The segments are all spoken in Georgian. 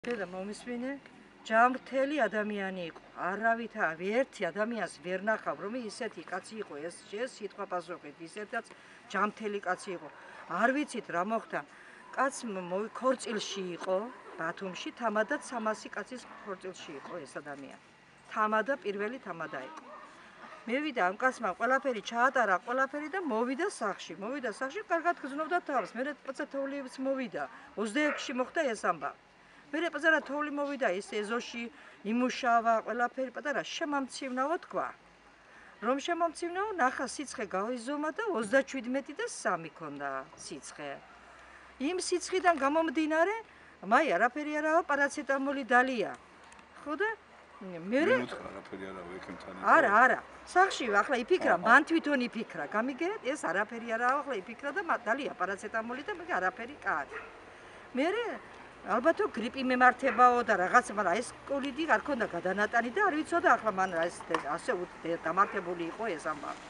და მომისმინე ჯამრთელი ადამიანი იყო. არავითარ ერთი ადამიანს ვერ ნახავ, რომ ისეთი კაცი იყო, ეს სიტყვა პასუხით, ისედაც ჯამრთელი კაცი იყო. არ ვიცით რა მოხდა. კაც ქორწილში იყო, ბათუმში, თამადაც 300 კაცის ქორწილში იყო ეს ადამიანი. თამადა პირველი თამადა იყო. მევიდა ამ კაცმა ყველაფერი ჩაატარა, ყველაფერი და მოვიდა სახში. კარგად გზნობდა თავს. მე პაცათოვლიც მოვიდა. 26-ში მოხდა ეს ამბავი. მე პატარა თოვლი მოვიდა ის ეზოში იმუშავა, ყველაფერი პატარა შემამცინაო თქვა. რომ შემამცინაო, ნახა სიცხე გაიზომა და 37 და 3 ქონდა სიცხე. იმ სიცხიდან გამომდინარე, მაი არაფერი არაა, პარაცეტამოლი დალია. ხო და მე არაფერი არაა ეკემთან. არა. სახში ახლა იფიქრა, მან თვითონ იფიქრა. გამიგეთ, ეს არაფერი არაა, ახლა იფიქრა და დალია პარაცეტამოლი და მე არაფერი კარი. მე ალბათო გრიპი მემართებაო და რაღაც, მაგრამ ეს კოლიდი არ ქონდა გადანატანი და არ ვიცოდა ახლა მან ეს ასე დამართებული იყო ეს ამბავი.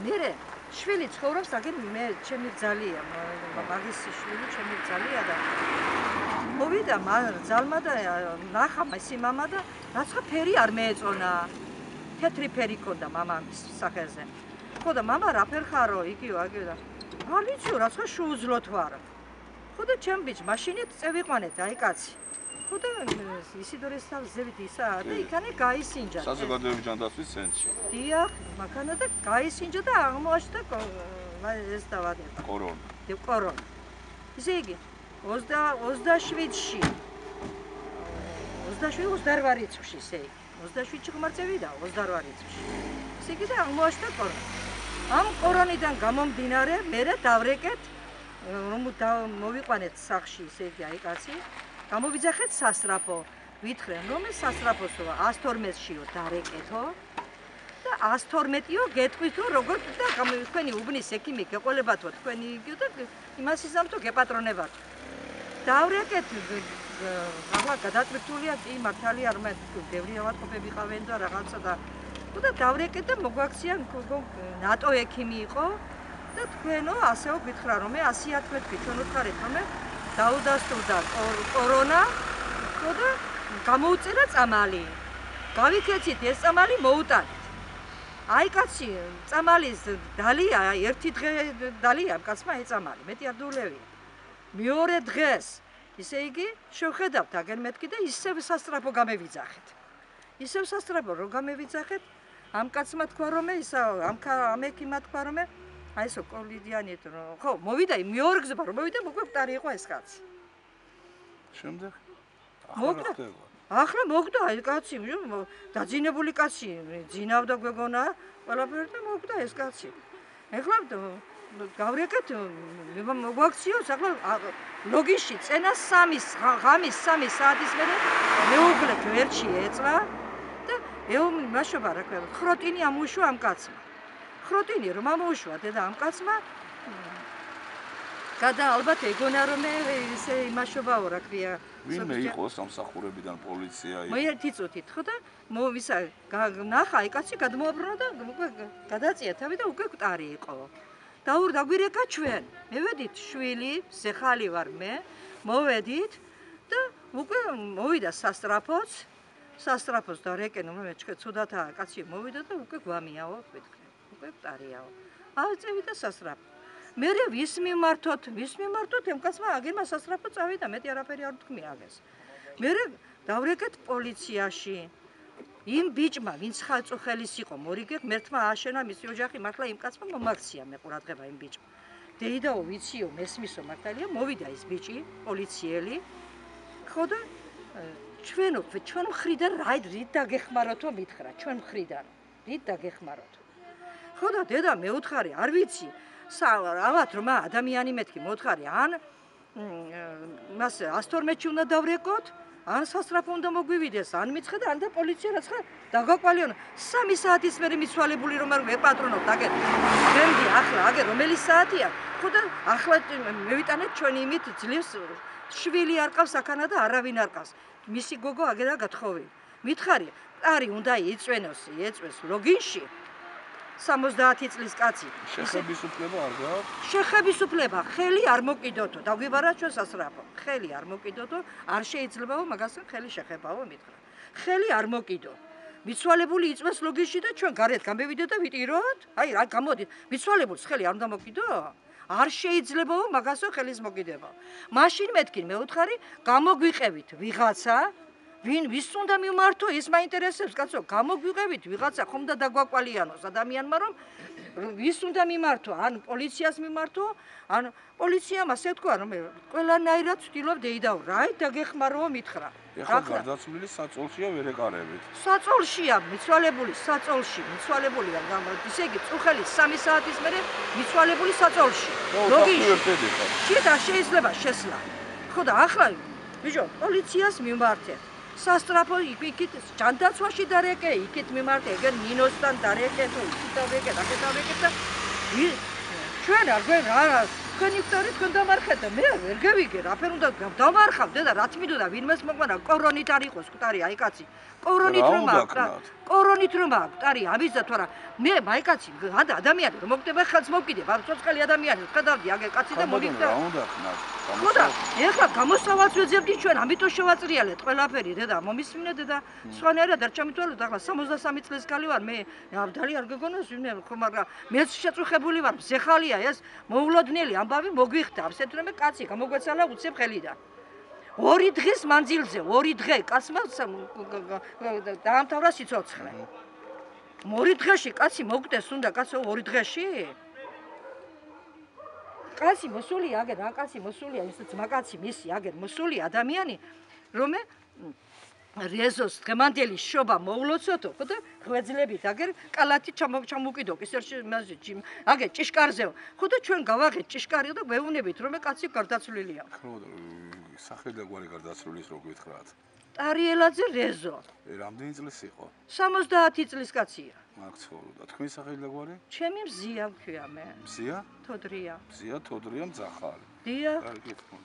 მე შვილი ცხოვრობს, აგერ მე ჩემი ძალია, მაგის შვილი ჩემი ძალია და მოვიდა ძალმა და ნახა მისი მამა და რაცა ფერი არ მეეწონა. თეთრი ფერი ქონდა მამამის სახეზე. ხო და მამა რა ფერ ხარო, იგივე აგივე და არ ვიციო რაცა შეუძლოთ ვარ. ხო და ჩემ ბიჭ მაშინით წევიყვანეთ აი კაცი. ხო და ისიდორეს თავზევით ისა და იქანე გაისინჯა. საზოგადოებრივი ჯანდაცვის ცენტრში. დიახ, მაგანა და გაისინჯა და აღმოაჩნდა ეს დავადება. კორონა. ისე იგი 27-ში 28 რიცხვში ისე იგი. 27-ში ღმერთევიდა 28 რიცხვში. ისე იგი და აღმოაჩნდა კორონა. ამ კორონიდან გამომდინარე მე დავრეკეთ რომ მოვიყვანეთ სახში ისე იგი აი კაცი გამოვიძახეთ სასტრაფო ვითხრენ რომ ეს სასტრაფოსო 112-შიო დარეკეთო და 112-იო გეტყვით რომ როგორ და თქვენი უბნის ექიმი გეყოლებათო თქვენი იგივე და იმას იზამთო გეპატრონებათ დავრეკეთ ახლა გადატვირთულია კი მართალია რომ ბევრი ავადმყოფები ყავენ და რაღაცა და და დავრეკეთ და მოგვაქციან ნატო ექიმი იყო და თქვენო ასეო გითხრა რომ მე 111 ჩვენ უთხარით რომ დაუდასტურდა კორონა ხო და გამოუწერა წამალი. გავიქეცით ეს წამალი მოუტანით. აი კაცი წამალის დალია ერთი დღე დალია კაცმა ეს წამალი. მეტი არ დულევია. მეორე დღეს ისე იგი შევხედავთ აგერ მეთქი და ისევ სასტრაფო გამევიძახეთ. ისევ სასტრაფო რო გამევიძახეთ ამ კაცმა თქვა რომ ისა ამ ექიმმა თქვა რომ აი ესო კოლიდიანით რომ ხო მოვიდა მეორე გზობა რომ მოვიდა მოგვე მტარი იყო ეს კაცი. შემდეგ ახლა მოგდა აი კაცი დაძინებული კაცი ძინავდა გვეგონა ყველაფერი და მოგდა ეს კაცი. ეხლა გავრეკეთ მოგვაქციოს ახლა ლოგინში წენა 3 საათის მერე მეუღლე გვერდში ეწვა და მაშობა რა ქვია ხროტინი ამუშვა ამ კაცმა. ხროტინი რომ ამოუშვა დედა ამ კაცმა გადა ალბათ ეგონა რომ ესე იმაშობაო რა ქვია ვინმე იყო სამსახურებიდან პოლიცია იყო მე ერთი წუთით ხო და მოვისა ნახა აი კაცი გადმოაბრუნა და გადაწია თავი და უკვე მტარი იყო დაგვირეკა ჩვენ მევედით შვილი ზეხალი ვარ მე მოვედით და უკვე მოვიდა სასტრაფოს და რეკენ მე ცუდათაა კაცი მოვიდა და უკვე გვამიაო თქვით უკვე მტარიაო. წევიდა სასტრაფო. მე ვის მიმართოთ ამ კაცმა აგერმა სასტრაფო წავიდა, მეტი არაფერი არ თქვი აგეს. მე დავრეკეთ პოლიციაში. იმ ბიჭმა, ვინც ხალწუხელის იყო, მორიგე ღმერთმა ააშენა მისი ოჯახი, მართლა იმ კაცმა მომაქცია მე ყურადღება იმ ბიჭმა. დეიდაო ვიციო, მესმისო მართალია, მოვიდა ის ბიჭი, პოლიციელი. ხო და ჩვენ მხრიდან რით დაგეხმაროთო მითხრა, ჩვენ მხრიდან. რით დაგეხმაროთო. ხო და დედა მე უთხარი არ ვიცი ავათ რომ ადამიანი მეთქი მოთხარი ან მას 112-ში უნდა დავრეკოთ ან სასტრაფო უნდა მოგვივიდეს ან მიცხედა ან და პოლიცია რაცხა დაგაკვალიონ 3 საათის მერე მიცვალებული რომ არ ვეპატრონოთ აგერ გემდი ახლა აგერ რომელი საათია ხო და ახლა მევიტანეთ ჩვენი იმით ძლივს შვილი არ ყავს აქანა და არავინ არ ყავს მისი გოგო აგერა გათხოვილი მითხარი ტარი უნდა ეწვენოს ლოგინში 70 წლის კაცი. შეხების უფლება არ გააქვს? შეხების უფლება, ხელი არ მოკიდოთო, დაგვიბარა ჩვენ სასწრაფო. ხელი არ მოკიდოთო, არ შეიძლებაო მაგასთან ხელი შეხებაო მითხრა. ხელი არ მოკიდო. მიცვალებული იწვევს ლოგიში და ჩვენ გარეთ გამევიდეთ და ვიტიროთ? აი რა გამოდით, მიცვალებულს ხელი არ უნდა მოკიდო? არ შეიძლებაო მაგასო ხელის მოკიდება. მაშინ მეთქი მე ვუთხარი, გამოგვიყევით ვიღაცა ვის უნდა მიმართო ის მაინტერესებს კაცო გამოგვიყევით ვიღაცა ხომ და დაგვაკვალიანოს ადამიანმა რომ ვის უნდა მიმართო ან პოლიციას მიმართო ან პოლიციამ ასე თქვა რომ ყველანაირად ვთილობ დეიდაო რაი დაგეხმაროო მითხრა ეხლა გარდაცვლილი საწოლშია ვერ ეკარებით საწოლშია მიცვალებული საწოლში მიცვალებულია ისე იგი წუხელი 3 საათის მერე მიცვალებული საწოლში ლოგიში შეიძლება შეიძლება შესლა ხო და ახლა ბიჭო პოლიციას მიმართეთ სასტრაფო იქით ჯანდაცვაში დარეკე, იქით მიმართე, ეგერ ნინოსთან დარეკე, თუ იქით დავეკე, და ჩვენ არ გვენ რა თქვენი ვტარი თქვენ დამარხეთ და მე ვერ გავიგე, რაფერ უნდა დავარხავ და რა თქმიდო და ვინმეს მოყვანა კორონით არ იყოს ვტარი, აი კაცი. კორონით რომ აქვს, კორონით რომ აქვს, ვტარი ამისა თუ არა. მე აი კაცი, ადამიანი რომ მოგდება ხელს მოგკიდებ, არ ცოცხალი ადამიანი, ხედავდი აგერ კაცი და მოგიგდა. რა უნდა ხნათ? ხოდა, ეხლა გამოსავალს ვეძებდი ჩვენ, ამიტომ შევაწრიალეთ ყველაფერი, დედა, მომისმინე დედა, სხვანაირად არ ჩამითვალოთ, ახლა 63 წლის ქალი ვარ, მე დალი არ გეგონოს, ხო, მაგრამ მეც შეწუხებული ვარ, ზეხალია ეს, მოულოდნელი ამბავი მოგვიხდა, ასეთ რომ კაცი გამოგვეცალა უცებ ხელიდან. 2 დღის მანძილზე, 2 დღე კაცმა დაამთავრა სიცოცხლე. 2 დღეში კაცი მოგდეს უნდა კაცო 2 დღეში? კაცი მოსულია აგერ, რა კაცი მოსულია, ის ძმაკაცი მისი აგერ მოსულია ადამიანი, რომ რეზოს დღემანდელი შობა მოულოცოთო, ხო და ღვეძლებით აგერ კალათი ჩამოვკიდო, ისერში აგერ ჭიშკარზეო. ხო და ჩვენ გავაღეთ ჭიშკარი და ვეუბნებით, რომ კაცი გარდაცვლილია. ხო და სახელი და გვარი გარდაცვლილის რო გითხრათ. ტარიელაძე რეზო. რამდენი წლის იყო? 70 წლის კაცია. მაგცხოვრო და თქვენი სახელი და გვარი? ჩემი მზია ვქვია მე. მზია? თოდრია. მზია თოდრია მძახალი. დიახ. კარგი თქო.